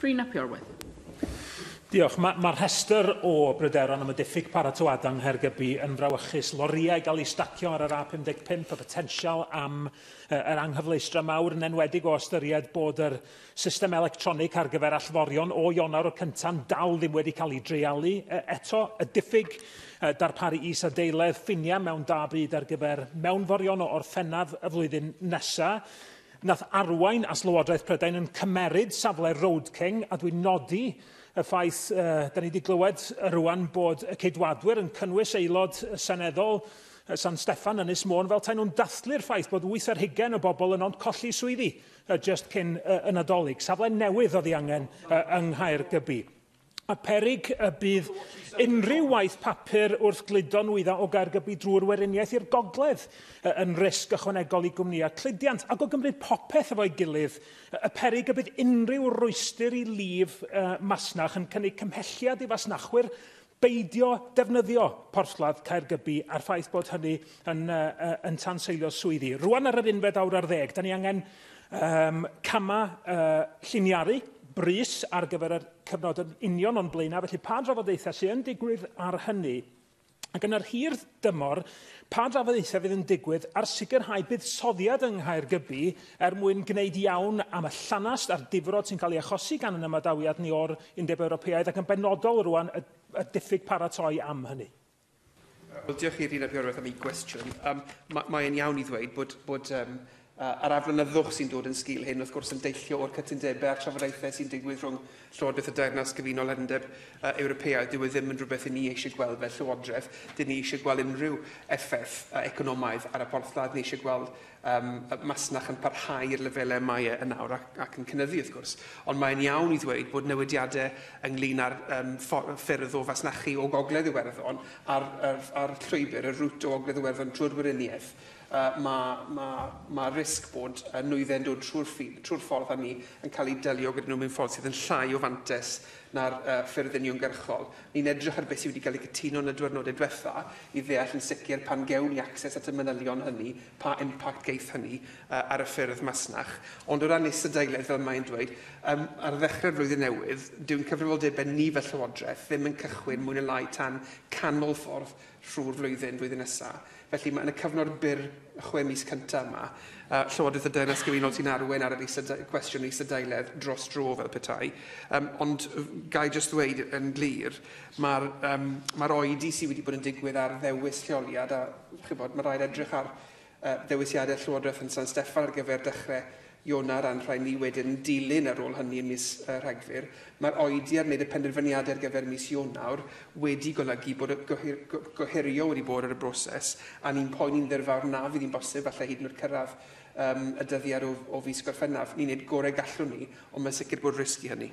Rhun ap Iorwerth. Diolch. Mae'r ma rhestr o bryderon am y diffyg paratoadau yng Nghaergybi yn frawychus. Lorïau gael eu stacio ar yr A55, y potensial am yr anghyfleustra mawr, yn enwedig o ystyried bod yr system electronig ar gyfer allforion o Ionawr y cynta'n dal ddim wedi cael ei dreialu eto. Y diffyg darparu isadeiledd ffiniau mewn da byd ar gyfer mewnforion o Orffennaf y flwyddyn nesaf, nath arwain as Lywodraeth Prydain yn cymeryd safle Road King, a dwi'n nodi y ffaith, da ni wedi glywed rwan bod y Ceidwadwyr yn cynnwys aelod seneddol San Steffan Ynys Môn fel taen nhw'n dathlu'r ffaith bod 8 o bobl yn ond colli swyddi just cyn y Nadolig. Safle newydd oedd ei angen yng Nghaergybi. A perig y bydd unrhyw waith papur wrth gludo nwyddau o Gaergybi drwy'r Weriniaeth i'r gogledd yn risg ychwanegol i gwmnïau cludiant. Ac o gymryd popeth efo'i gilydd, y perig y bydd unrhyw rwystr i lif masnach yn cynnig cymhelliad i fasnachwyr beidio defnyddio porthladd Caergybi a'r ffaith bod hynny yn tanseilio swyddi. Rwan ar yr 11:11, da ni angen cama lliniaru brys ar gyfer y cyfnod yn union o'n blaenau, felly pa drafodaethau sydd yn digwydd ar hynny? Ac yn yr hir dymor, pa drafodaethau fydd yn digwydd ar sicrhau buddsoddiad yng Nghaergybi er mwyn gwneud iawn am y llanast a'r difrod sy'n cael ei achosi gan yn ymadawiad ni o'r Undeb Ewropeaidd ac yn benodol rwan y diffyg paratoi am hynny? Wel, diolch i Rhun ap Iorwerth am ei gwestiwn. Mae'n iawn i ddweud bod yr aflonyddwch sy'n dod yn sgil hyn, wrth gwrs, yn deillio o'r cytundebau a'r trafodaethau sy'n digwydd rhwng Llywodraeth y Deyrnas Gyfunol a'r Undeb Ewropeaidd. Dyw e ddim yn rhywbeth i ni eisiau gweld fel Llywodraeth. Dyn ni eisiau gweld unrhyw effaith economaidd ar y porthladd. Ni eisiau gweld masnach yn parhau i'r lefelau mae e yn nawr ac yn cynyddu, wrth gwrs. Ond mae'n iawn i ddweud bod newidiadau ynglyn â'r ffyrdd o fasnachu o Gogledd Iwerddon a'r llwybr, y route o Ogledd Iwerddon trwy'r Weriniaeth, mae risg bod nwyddau'n dod trwy'r ffordd hynny yn cael ei delio gyda nhw mewn ffordd sydd yn llai o fantes na'r ffyrdd uniongyrchol. Ni'n edrych ar beth sydd wedi cael ei cytuno yn y diwrnodau diwetha i ddeall yn sicr pan gewn ni access at y manylion hynny, pa impact geith hynny ar y ffyrdd masnach. Ond o ran isadeiledd, fel mae'n dweud, ar ddechrau'r flwyddyn newydd, dyw'n cyfrifoldebau ni fel Llywodraeth ddim yn cychwyn mwy na lai tan canol ffordd trwy'r flwyddyn nesaf. Felly mae yn y cyfnod byr 6 mis cyntaf yma, Llywodraeth y Deyrnas Gyfunol sy'n arwain ar yr cwestiwn isadeiledd dros dro fel petai. Ond ga i jyst ddweud yn glir, mae'r oedi sydd wedi bod yn digwydd ar ddewis lleoliad, a chybod, mae rhaid edrych ar ddewisiadau Llywodraeth yn San Steffan ar gyfer dechrau Ionawr a'n rhai ni wedyn dilyn ar ôl hynny ym mis Rhagfyr. Mae'r oedi ar wneud y penderfyniadau ar gyfer mis Ionawr wedi golygu bod y gohirio wedi bod ar y broses, a ni'n poeni'n ddirfawr na fydd hi'n bosib falle hyd yn oed cyrraedd y dyddiad o fis Gorffennaf. Ni'n gwneud gorau gallwn ni, ond mae'n sicr bod risg i hynny.